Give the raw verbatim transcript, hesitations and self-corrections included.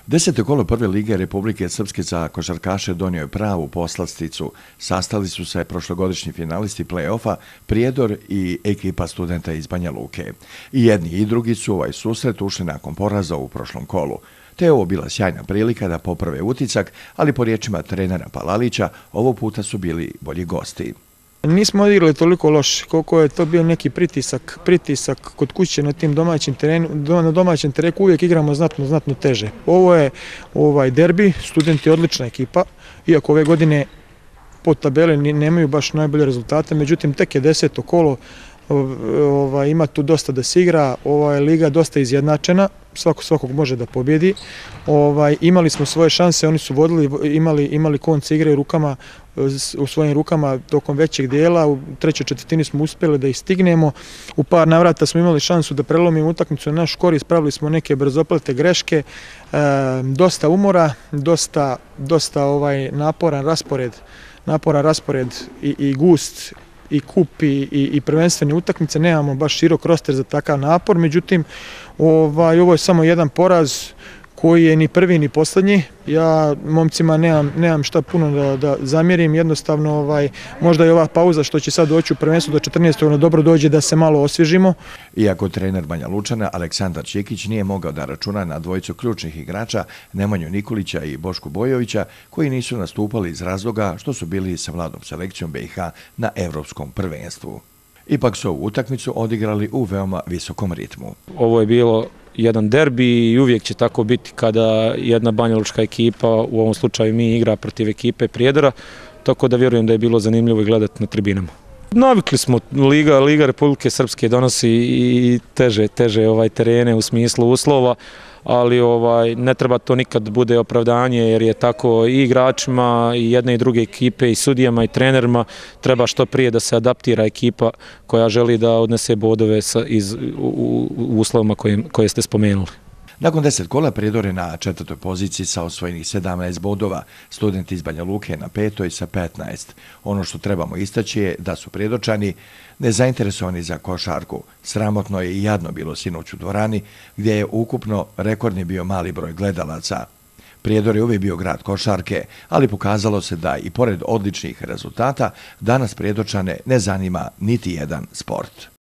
Deseto kolo prve lige Republike Srpske za košarkaše donio je pravu poslasticu. Sastali su se prošlogodišnji finalisti play-offa Prijedor i ekipa Studenta iz Banja Luke. I jedni i drugi su ovaj susret ušli nakon poraza u prošlom kolu. Te je ovo bila sjajna prilika da poprave uticak, ali po riječima trenera Palalića, ovog puta su bili bolji gosti. Nismo odigrali toliko loše, koliko je to bio neki pritisak, pritisak kod kuće na tim domaćim terenu, na domaćem terenu uvijek igramo znatno, znatno teže. Ovo je ovaj derbi, Studenti odlična ekipa, iako ove godine po tabeli nemaju baš najbolje rezultate, međutim tek je deseto kolo, ovaj, ima tu dosta da se igra, ova je liga dosta izjednačena, svako svakog može da pobjedi. Ovaj, imali smo svoje šanse, oni su vodili, imali, imali konce igre u rukama, u svojim rukama tokom većeg dijela, u trećoj četvrtini smo uspjeli da ih stignemo, u par navrata smo imali šansu da prelomimo utakmicu na naš korist, pravili smo neke brzoplete greške, e, dosta umora, dosta, dosta ovaj naporan raspored, naporan raspored i, i gust i kup i, i, i prvenstvene utakmice, nemamo baš širok roster za takav napor, međutim ovaj, ovo je samo jedan poraz koji je ni prvi ni posljednji. Ja momcima nemam, nemam šta puno da, da zamjerim, jednostavno ovaj, možda je ova pauza što će sad doći u prvenstvu do četrnaestog ono dobro dođe da se malo osvježimo. Iako trener Banja Lučana Aleksandar Čikić nije mogao da računa na dvojicu ključnih igrača Nemanju Nikolića i Bošku Bojovića, koji nisu nastupali iz razloga što su bili sa mladom selekcijom B i H na evropskom prvenstvu. Ipak su ovu utakmicu odigrali u veoma visokom ritmu. Ovo je bilo jedan derbi i uvijek će tako biti kada jedna banjalučka ekipa, u ovom slučaju mi, igra protiv ekipe Prijedora, tako da vjerujem da je bilo zanimljivo i gledati na tribinama. Navikli smo, Liga, Liga Republike Srpske donosi i teže, teže ovaj terene u smislu uslova, ali ovaj, ne treba to nikad bude opravdanje jer je tako i igračima i jedne i druge ekipe i sudijama i trenerima treba što prije da se adaptira ekipa koja želi da odnese bodove sa, iz, u, u, u uslovima koje, koje ste spomenuli. Nakon deset kola Prijedor je na četvrtoj poziciji sa osvojenih sedamnaest bodova, Studenti iz Banja Luke na petoj sa petnaest. Ono što trebamo istaći je da su Prijedorčani nezainteresovani za košarku. Sramotno je i jadno bilo sinoć u dvorani, gdje je ukupno rekordni bio mali broj gledalaca. Prijedor je uvijek bio grad košarke, ali pokazalo se da i pored odličnih rezultata danas Prijedorčane ne zanima niti jedan sport.